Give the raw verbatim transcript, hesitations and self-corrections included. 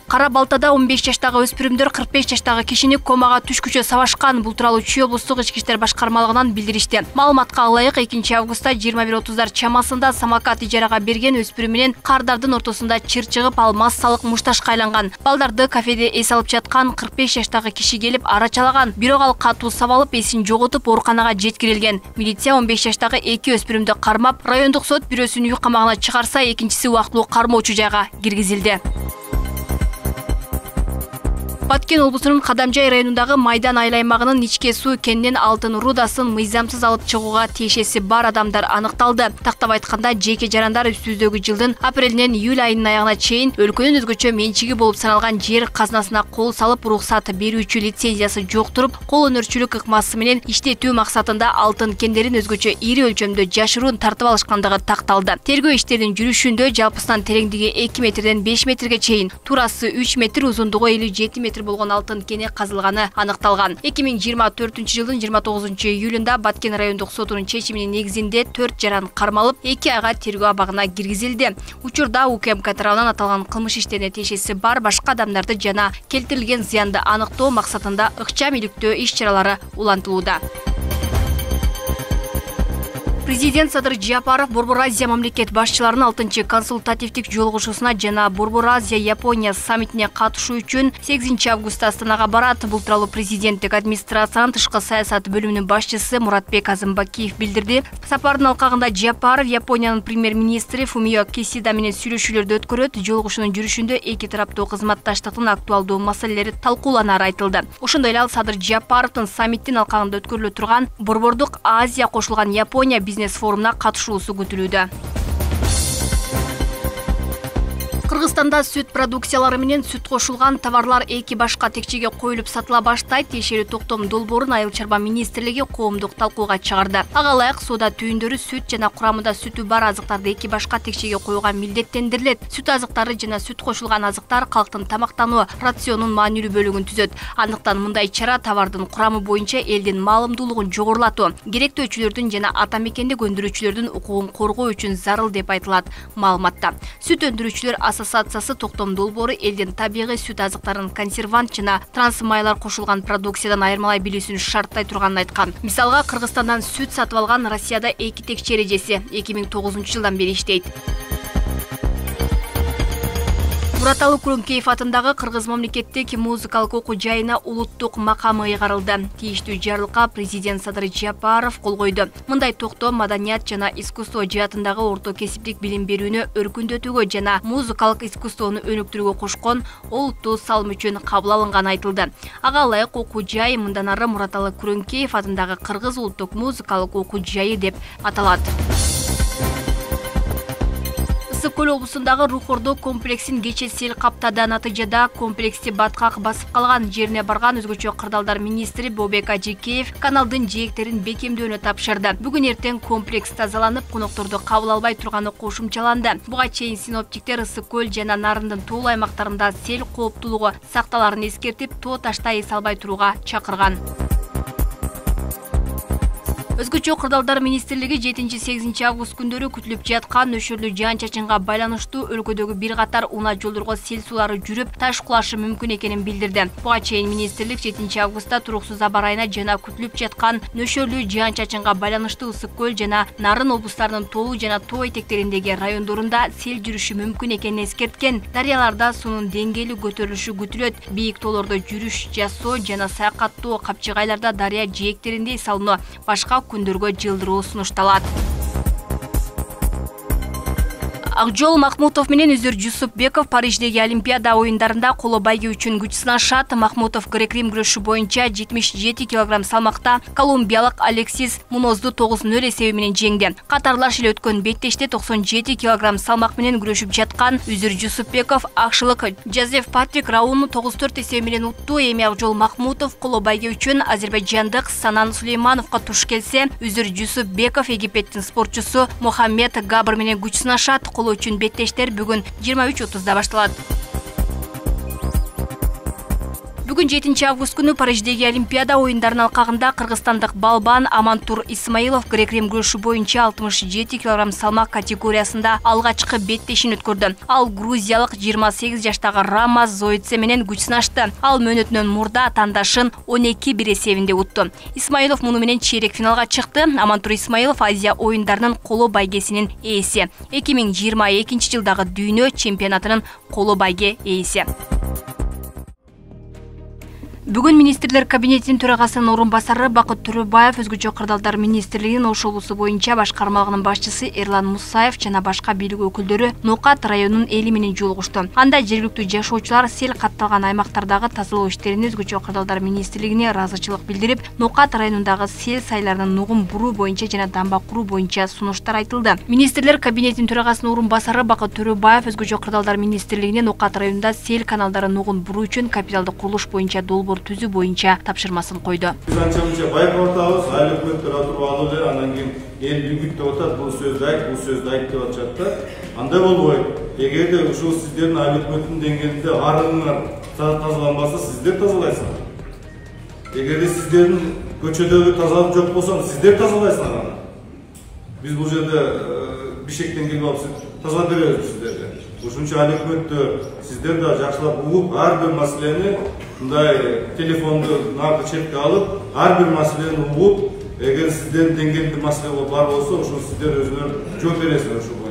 Кара Балтада он беш жаштагы өспүрүмдөр кырк беш жаштагы кишини комага түшкүчө сабашкан. Бул тууралуу Чүй облустук ички иштер башкармалыгынан билдиришти. Маалыматка ылайык экинчи августта жыйырма бир отуздар чамасында самокат ижарага берген өспүрүм менен кардардын ортосунда чыр чыгып, ал массалык мушташка айланган. Балдарды кафеде эс алып жаткан кырк беш жаштагы киши келип арачалаган. Бирок ал катуу сабалып, эсин жоготуп, ооруканага жеткирилген. Милиция он беш жаштагы эки өспүрүмдү кармап, райондук сот бирөөсүн үй камагына чыгарса, экинчиси убактылуу кармоочу жайга киргизилди. Баткен облусунун Кадамжай районундагы Майдан айыл аймагынын ичке суу кенинен алтын рудасын мыйзамсыз алып чыгууга тиешеси бар адамдар аныкталды. Тактап айтканда, жеке жарандар үстүбүздөгү жылдын апрелинен июль айынын аягына чейин өлкөнүн өзгөчө менчиги болуп саналган жер казынасына кол салып, уруксат берүүчү лицензиясы жок туруп, кол өнөрчүлүк ыкмасы менен иштетүү максатында алтын кендерин өзгөчө ири өлчөмдө жашыруун тартып алышкандыгы такталды. Тергөө иштеринин жүрүшүндө жалпысынан тереңдиги эки метрден беш метрге чейин, турасы үч метр, узундугу элүү жети метр болгон алтын кени казылганы аныкталган. эки миң жыйырма төртүнчү жылдын жыйырма тогузунчу июлунда Баткен райондук сотунун чечиминин негизинде төрт жаран кармалып, эки айга тергөө абагына киргизилди. Учурда УКМК тарабынан аталган кылмыш иштерине тиешеси бар башка адамдарды жана келтирилген зыянды аныктоо максатында ыкчам иликтөө иш-чаралары улантылууда. Президент Садыр Жапаров Борбор Азия мамлекет башчыларынын алтынчы консультативдик жолугушуусуна жана Борбор Азия Япония саммитине катышуу үчүн сегизинчи августта Астанага барат. Бул тууралуу президенттик администрациянын тышкы саясат бөлүмүнүн башчысы Муратбек Азымбакиев билдирди. Сапардын алкагында Жапаров Япониянын премьер-министри Фумио Кисида менен сүйлөшүүлөрдү өткөрөт. Жолугушуунун жүрүшүндө эки тараптуу кызматташтыктын актуалдуу маселелери талкууланары айтылды. Ошондой эле ал Садыр Жапаровдун саммиттин алкагында өткөрүлө турган Борбордук Азия кошулган Япония бизнес форумуна катышуусу күтүлүүдө. Кыргызстанда сүт продукциялары менен сүт кошулган товарлар эки башка текчеге коюлуп сатыла баштайт. Тиешелүү токтом долбоорун Айыл чарба министрлиги коомдук талкууга чыгарды. Ага ылайык соода түйүндөрү сүт жана курамында сүтү бар азыктарды эки башка текчеге коюуга милдеттендирилет. Сүт азыктары жана сүт кошулган азыктар калктын тамактануу рационунун маанилүү бөлүгүн түзөт. Андыктан мындай чара товардын курамы боюнча элдин маалымдуулугун жогорулатуу, керектөөчүлөрдүн жана ата мекендик өндүрүүчүлөрдүн укугун коргоо үчүн зарыл деп айтылат маалыматта. Сүт өндүрүүчүлөр ассоциациясы токтом долбоору элдин табигый сүт азыктарын консервант жана трансмайлар кошулган продукциядан айырмалай билүүсүн шарттай турганын айткан. Мисалга, Кыргызстандан сүт сатып алган Россияда эки текче эрежеси эки миң тогузунчу жылдан бери иштейт. Мураталы Күрөңкеев атындагы Кыргыз мамлекеттик музыкалык окуу жайына улуттук макамы ыйгарылды. Тийиштүү жарлыкка президент Садыр Жапаров кол койду. Мындай токтоо маданият жана искусство жаатындагы орто кесиптик билим берүүнү өркүндөтүүгө жана музыкалык искусствону өнүктүрүүгө кошкон олуттуу салым үчүн кабыл алынганы айтылды. Ага ылайык окуу жай мындан ары Мураталы Күрөңкеев атындагы Кыргыз улуттук музыкалык окуу жайы деп аталат. Ысык-Көл облусундагы Рухордо комплексин кече сел каптады. Натыйжада комплексти баткак басып калган. Жерине барган өзгөчө кырдаалдар министри Бобек Ажикеев каналдын жээктерин бекемдөөнү тапшырды. Бүгүн эртең комплекс тазаланып, конокторду кабыл албай турганы кошумчаланды. Буга чейин синоптиктер Ысык-Көл жана Нарындын тоолуу аймактарында сел кооптуулугу сакталарын эскертип, тоо таштай эс албай турууга чакырган. Өзгөчө кырдаалдар министрлиги жетинчи сегизинчи август күндөрү күтүлүп жаткан нөшөрлүү жаан-чачынга байланыштуу өлкөдөгү бир катар унаа жолдорго сел суулары жүрүп, таш кулашы мүмкүн экенин билдирди. Буга чейин министрлик жетинчи августта туруксуз аба ырайына жана күтүлүп жаткан нөшөрлүү жаан-чачынга байланыштуу Ысык-Көл жана Нарын облустарынын тоолуу жана тоо этектериндеги райондорунда сел жүрүшү мүмкүн экенин эскерткен. Дарыяларда суунун деңгээли көтөрүлүшү күтүлөт. Бийик тоолордо жүрүш жасоо жана саякаттоо, капчыгайларда дарыя жээктеринде эс алуу башка күндөргө жылдыруу сунушталат. Акжол Махмутов менен Үзүр Жусупбеков Париждеги Олимпиада оюндарында коло байгө үчүн күч сынашат. Махмутов грек-рим күрөшү боюнча жетимиш жети килограмм салмакта колумбиялык Алексис Мунозду тогуз нөл эсеби менен жеңди. Катарлаш эле өткөн беттеште токсон жети килограмм салмак менен күрөшүп жаткан Үзүр Жусупбеков акшылык Жозеф Патрик Рауну тогуз төрт эсеби менен утту. Эми Акжол Махмутов коло байгө үчүн азербайжандык Санан Сулеймановго туш келсе, Үзүр Жусупбеков Египеттин спортчусу Мохаммед Габр менен күч сынашат. Үчүн беттештер бүгүн жыйырма үч отузда башталат. Бүгүн жетинчи август күнү Париждеги Олимпиада оюндарынын алкагында кыргызстандык балбан Амантур Исмаилов грек-рим күрөшү боюнча алтымыш жети килограмм салмак категориясында алгачкы беттешин өткөрдү. Ал грузиялык жыйырма сегиз жаштагы Рамаз Зоице менен күч сынашты. Ал мөөнөтүнөн мурда тандашын он эки бир эсебинде утту. Исмаилов муну менен чейрек финалга чыкты. Амантур Исмаилов Азия оюндарынын коло байгесинин ээси. эки миң жыйырма экинчи жылдагы дүйнө чемпионатынын коло байге ээси. Бүгүн министрлер кабинетинин төрагасынын орун басары Бакыт Төрөбаев өзгөчө кырдаалдар министрлигинин Ош облусу боюнча башкармалыгынын башчысы Эрлан Мусаев жана башка бийлик өкүлдөрү Нокат районунун эли менен жолугушту. Анда жергиликтүү жашоочулар сел катталган аймактардагы тазалоо иштерине өзгөчө кырдаалдар министрлигине ыраазычылык билдирип, Нокат районундагы сел сайларынын нугун буруу боюнча жана дамба куруу боюнча сунуштар айтылды. Министрлер кабинетинин төрагасынын орун басары Бакыт Төрөбаев өзгөчө кырдаалдар министрлигине Нокат районунда сел каналдарын нугун буруу үчүн капиталдык курулуш боюнча долбоор түзүү боюнча тапшырмасын койду. Биз анча-мынча байкап атабыз, айыл өкмөттөр отуруп алып эле, андан кийин эл үгүттөп атат, бул сөздү айт, бул сөздү айт деп атышат да. Андай болбойт. Эгерде ушул сиздердин айыл өкмөттүн деңгээлинде арыңар тазаланбаса, сиздер тазалайсыңар. Эгерде сиздердин көчөдөгү тазалык жок болсо, сиздер тазалайсыңар аны. Биз бул жерде бишектен келип алып тазалап беребиз сиздерге. Ушунча айыл өкмөттө сиздер да жакшылап угуп, ар бир маселени мындай телефонду наркы четке алып, ар бир маселени угуп, эгер сиздердин деңгээлде маселе бар болсо, ошол сиздер өзүңөр жооп бересиңер ушул